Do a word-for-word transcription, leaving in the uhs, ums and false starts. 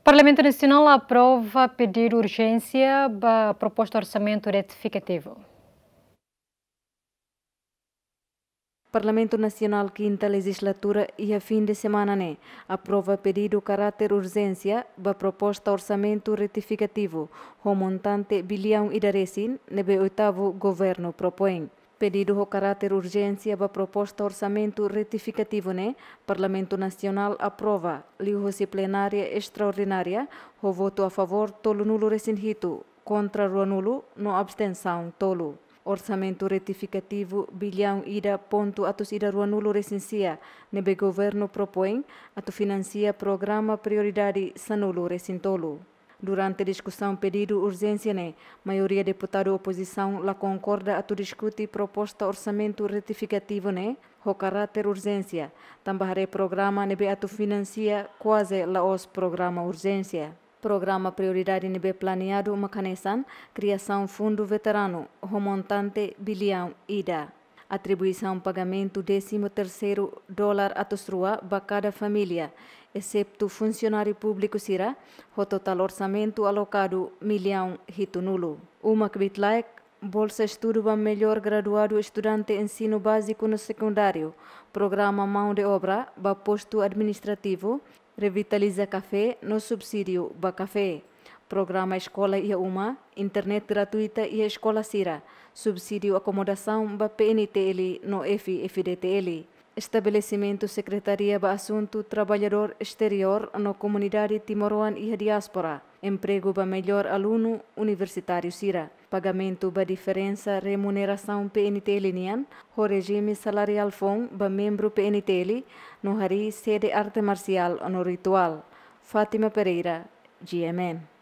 Parlamentu Nasionál aprova pedidu urjénsia ba proposta orsamentu retifikativu. Parlamentu Nasionál kinta lejizlatura iha fin de semana ne'e aprova pedidu karáter urjénsia ba proposta orsamentu retifikativu ho montante biliaun ida resin ne'ebé oitavu governu propoin. Pedidu ho karáter urjénsia ba proposta orsamentu retifikativu ne'e Parlamentu Nasionál aprova liuhusi plenária estraordinária ho votu a favór tolunulu resin hitu, kontra ruanulu no abstensaun tolu. Orsamentu retifikativu biliaun ida pontu atus ida ruanulu resin sia ne'ebé governu propoin atu finansia programa prioridade sanulu resin tolu. Durante diskusaun pedidu urjénsia ne'e, maioria deputadu opozisaun la konkorda atu diskute proposta orsamentu retifikativu ne'e ho karáter urjénsia, tanba haree programa ne'ebé atu finansia kuaze la'ós programa urjénsia. Programa prioridade ne'ebé planeadu mak hanesan kriasaun fundu veteranu ho montante biliaun ida, atribuisaun pagamentu désimu terseiru dolar atus rua ba kada família, eseptu funsionáriu públiku sira, ho totál orsamentu alokadu miliaun hitunulu. Uma kbiit-laek, bolsa estudu ba mellór graduadu estudante ensinu báziku no sekundáriu, programa maun de obra ba postu administrativu, revitaliza kafé no subsídiu ba kafé, programa eskola iha uma, internet gratuita iha eskola sira, subsídiu akomodasaun ba P N T L no F F D T L. Estabelesimentu Sekretaria ba Asuntu Traballadór Esteriór no Komunidade Timoroan iha Diáspora, empregu ba mellór alunu universitáriu sira, pagamentu ba diferensa remunerasaun P N T L nian ho rejime salariál foun ba membru P N T L, no harii sede arte marsiál no rituál. Fátima Pereira, G M N.